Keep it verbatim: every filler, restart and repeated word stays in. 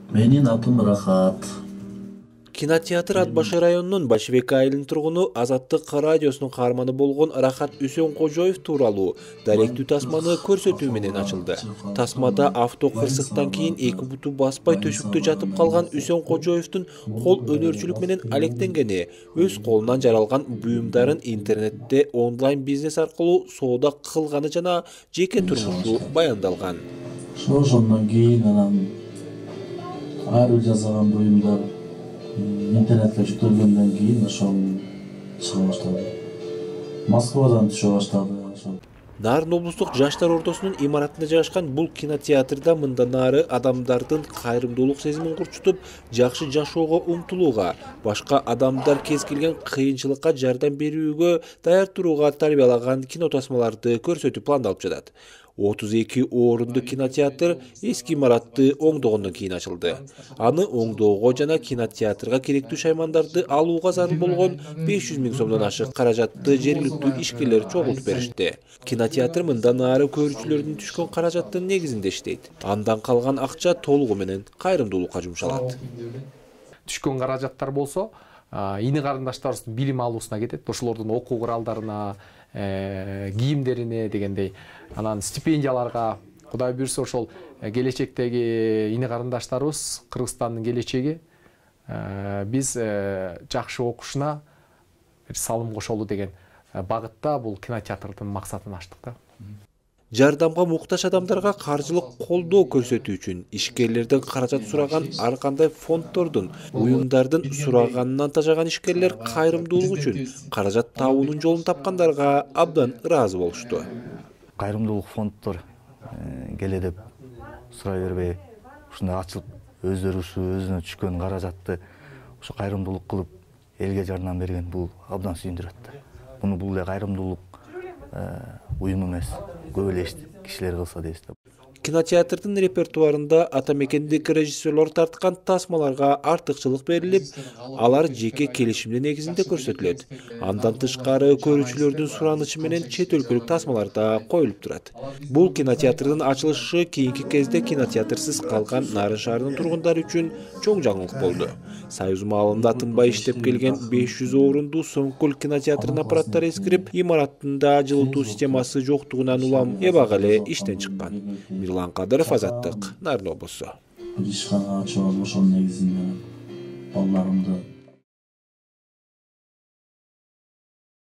Менин атым Рахат. Кинотеатр Ат Башы районунун Башбек айылынын тургуну Азаттык радиосунун каарманы болгон Рахат Үсөнкожоев тууралуу даректүү тасманы көрсөтүү менен ачылды. Тасмада авто кырсыктан кийин эки буту баспай төшүктө жатып калган Үсөнкожоевдун кол өнөрчүлүк менен алектенгени, өз колунан жаралган буюмдарын интернетте онлайн бизнес аркылуу соода кылганы жана жеке турмушу баяндалган. Ошондон кийин анан ар бир жасаган буюмдар интернетке жүктөлгөндөн кийин ошол чыга баштады. Москвадан түшө баштады. Нарын облустук жаштар ортосунун имаратында жайгашкан бул кинотеатрда мындан ары адамдардын кайрымдуулук сезимин курчутуп, жакшы жашоого умтулууга, башка адамдар кез келген кыйынчылыкка жардам берүүгө даяр турууга тарбиялаган кинотасмаларды көрсөтүү пландалып жатат. отуз эки орунду кинотеатр эски имаратты оңдогондон кийин ачылды. Аны оңдоого жана кинотеатрга керектүү шаймандарды алууга зарыл болгон беш жүз миң сомдон ашык каражатты жергиликтүү ишкерлер чогултуп беришти. Кинотеатр мындан ары көрүүчүлөрдүн түшкөн каражаттын негизинде иштейт. Андан калган акча толугу менен кайрымдуулукка жумшалат. Түшкөн каражаттар болсо, ини карындаштарыбыздын билим алуусуна кетет, ошолордун окуу куралдарына, кийимдерине дегендей, анан стипендияларга, Кудай буйрса ошол келечектеги ини карындаштарыбыз, Кыргызстандын келечеги биз жакшы окушуна салым кошолу деген багытта бул кинотеатрдын максатын аштык да. Жардамга муктаж адамдарга каржылык колдоо көрсөтүү үчүн ишкерлерден каражат сураган ар кандай фонддордун, уюмдардын сураганынан тажаган ишкерлер кайрымдуулук үчүн каражат табуунун жолун тапкандарга абдан ыраазы болушту. Кайрымдуулук фонддор келе деп сурай бербей, ушундай ачылып өздөрү ушу өзүнө түшкөн каражатты ушу кайрымдуулук кылып элге жардам берген бул абдан сүйүндүрөт. Муну бул эле кайрымдуулук уюм эмес, көп эле кишилер кылса дейбиз. Кинотеатрдын репертуарында атамекендик режиссерлор тарткан тасмаларга артыкчылык берилип, алар жеке келишимдин негизинде көрсөтүлөт. Андан тышкары көрүүчүлөрдүн суранычы менен чет өлкөлүк тасмалар да коюлуп турат. Бул кинотеатрдын ачылышы кийинки кезде кинотеатрсыз калган Нарын шаарынын тургундары үчүн чоң жаңылык болду. Союз маалында тынбай иштеп келген беш жүз орунду Сомкөл кинотеатрынын аппараттары эскирип, имараттында жылытуу системасы жоктугунан улам эбак эле иштен чыккан. Мирлан Кадыров, Азаттык, Нарын облусу. Ишканага чогулуп ошонун негизинде балдарымды